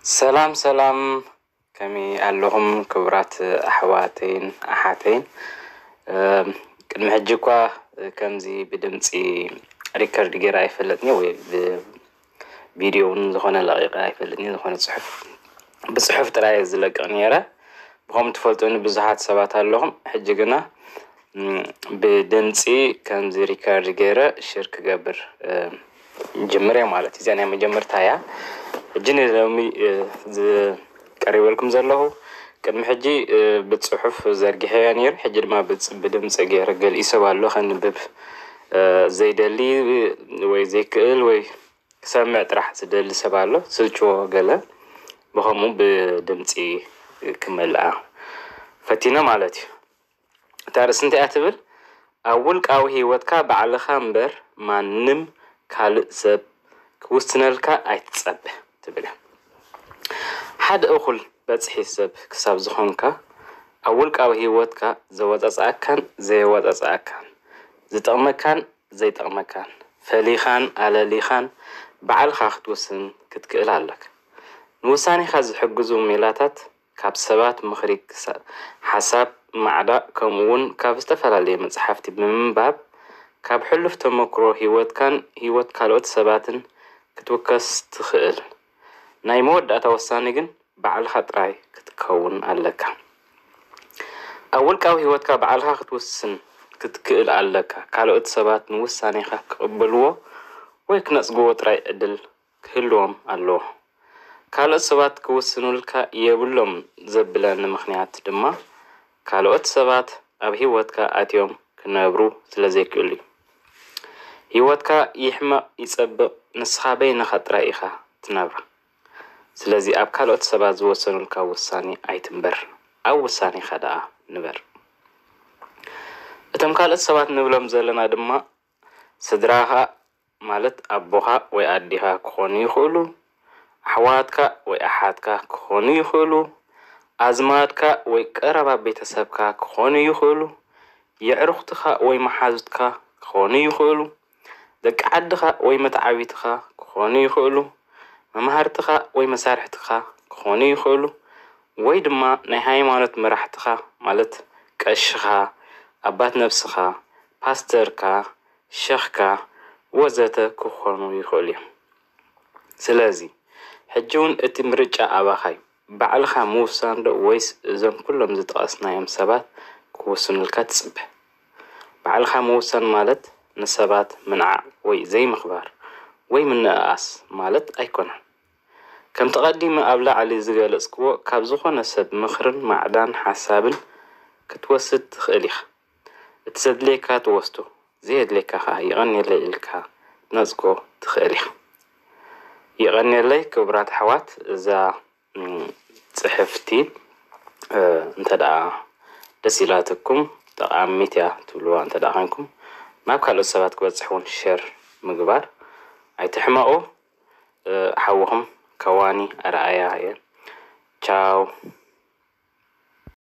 ሰላም ሰላም፣ ከመይ ኣለኹም ክቡራት ኣሕዋተይን ኣሓተይን? እም፣ ቅድሚ ሕጂ እኳ ከምዚ ብድምፂ ሪከርድ ገይረ ኣይፈልጥን ወይ ብቪድዮ እውን ዝኾነ ለቂቐ ኣይፈልጥን። ዝኾነ ፅሑፍ ብፅሑፍ ጥራይ ዝለቅቕ ነይረ። ብኸም ትፈልጡኒ ብዙሓት ሰባት ኣለኹም። ሕጂ ግና እም፣ ብድምፂ ከምዚ ሪከርድ ገይረ ሽር ክገብር እም፣ ጅምር እየ ማለት እዩ። እዚኣ ናይ መጀመርታ እያ። ሕጂ ንሎሚ እ፣ ዝቀሪበልኩም ዘለኹ ቅድሚ ሕጂ እ፣ ብፅሑፍ ዘርጊሐያ ነይሩ። ሕጂ ድማ ብፅ- ብድምፂ ገይረ ገሊኡ ሰብ ኣሎ ከንብብ እ፣ ዘይደሊ ወይ ዘይክእል ወይ ክሰምዕ ጥራሕ ዝደሊ ሰብ ኣሎ፣ ስልችዎ ገለ። ብኸምኡ ብድምፂ ክመልኣ ፈቲነ ማለት እዩ። እታ ርእሲ እንታይ እያ ትብል? ኣብ ውልቃዊ ህይወትካ ባዕልኻ እምበር ማንም ካልእ ሰብ ክውስነልካ ኣይትጸበ ትብል እያ። ሓደ እኹል በጽሒ ሰብ ክሳብ ዝኾንካ ኣብ ውልቃዊ ህይወትካ ዘወጻጽኣካን ዘየወጻጽኣካን ዝጠቕመካን ዘይጠቕመካን ፈሊኻን ኣለሊኻን ባዕልኻ ክትውስን ክትክእል ኣለካ። ንውሳኔኻ ዝሕግዙ ሜላታት ካብ ሰባት ምኽሪ ክሳ- ሓሳብ ማዕዳ ከምኡ እውን ካብ ዝተፈላለየ መጽሓፍቲ ብምንባብ ካብ ሕሉፍ ተመክሮ ህይወትካን ህይወት ካልኦት ሰባትን ክትውከስ ትኽእል። ናይ መወዳእታ ወሳኒ ግን ባዕልኻ ጥራይ ክትከውን ኣለካ። ኣብ ውልቃዊ ህይወትካ ባዕልኻ ክትውስን ክትክእል ኣለካ። ካልኦት ሰባት ንውሳኔኻ ክቕበልዎ ወይ ክነጽግዎ ጥራይ ዕድል ክህልዎም ኣለዎ። ካልኦት ሰባት ክውስኑልካ የብሎም ዘብለኒ ምኽንያት ድማ ካልኦት ሰባት ኣብ ህይወትካ ኣትዮም ክነብሩ ስለ ዘይክእሉ እዩ። ህይወትካ ይሕመቕ ይጸብቕ ንስኻ በይንኻ ጥራይ ኢኻ ትነብራ። ስለዚ ኣብ ካልኦት ሰባት ዝወሰኑልካ ውሳኔ ኣይትንበር፣ ኣብ ውሳኔኻ ደኣ ንበር። እቶም ካልኦት ሰባት ንብሎም ዘለና ድማ ስድራኻ ማለት ኣቦኻ ወይ ኣዴኻ ክኾኑ ይኽእሉ፣ ኣሕዋትካ ወይ ኣሓትካ ክኾኑ ይኽእሉ፣ ኣዝማድካ ወይ ቀረባ ቤተሰብካ ክኾኑ ይኽእሉ፣ የዕሩኽትኻ ወይ መሓዙትካ ክኾኑ ይኽእሉ፣ ደቂ ዓድኻ ወይ መተዓቢትኻ ክኾኑ ይኽእሉ፣ መማህርትኻ ወይ መሳርሕትኻ ክኾኑ ይኽእሉ፣ ወይ ድማ ናይ ሃይማኖት መራሕትኻ ማለት ቀሽኻ፣ ኣባት ነብስኻ፣ ፓስተርካ፣ ሸኽካ ወዘተ ክኾኑ ይኽእሉ እዮም። ስለዚ ሕጂ እውን እቲ ምርጫ ኣባኻ እዩ። ባዕልኻ ምውሳን ዶ ወይስ እዞም ኩሎም ዝጠቐስናዮም ሰባት ክውስኑልካ ትጽበ? ባዕልኻ ምውሳን ማለት ንሰባት ምንዓቕ ወይ ዘይምኽባር ወይ ምንእኣስ ማለት ኣይኮነን። ከምቲ ቀዲመ ኣብ ላዕሊ ዝገለጽክዎ ካብ ዝኾነ ሰብ ምኽርን ማዕዳን ሓሳብን ክትወስድ ትኽእል ኢኻ። እቲ ዘድልየካ ትወስዶ፣ ዘየድልየካ ኸኣ የቐንየለይ ኢልካ ክትነጽጎ ትኽእል ኢኻ። የቐንየለይ ክቡራት ኣሕዋት፣ እዛ እም፣ ጽሕፍቲ እ፣ እንተ ደኣ ደስ ኢላትኩም ጠቓሚት እያ ትብልዋ እንተ ደኣ ኾንኩም ናብ ካልኦት ሰባት ክበጽሕ እውን ሸር ምግባር ኣይትሕመቑ። እ፣ ሓውኹም ከዋኒ ኣርኣያ እየ። ቻው።